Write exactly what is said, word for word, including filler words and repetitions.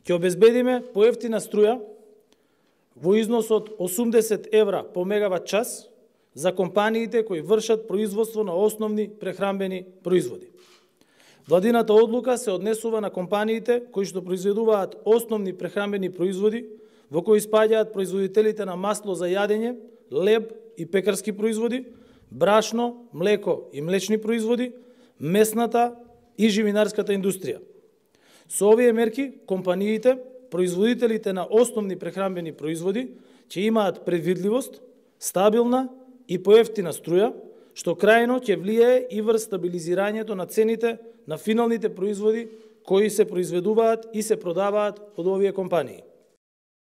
Ќе обезбедиме поевтина струја во износ од осумдесет евра по мегават час за компаниите кои вршат производство на основни прехранбени производи. Владината одлука се однесува на компаниите кои што произведуваат основни прехранбени производи, во кои спаѓаат производителите на масло за јадење, леб и пекарски производи, брашно, млеко и млечни производи, месната и живинарската индустрија. Со овие мерки, компаниите, производителите на основни прехранбени производи, ќе имаат предвидливост, стабилна и поевтина струја, што крајно ќе влијае и врз стабилизирањето на цените на финалните производи кои се произведуваат и се продаваат од овие компании.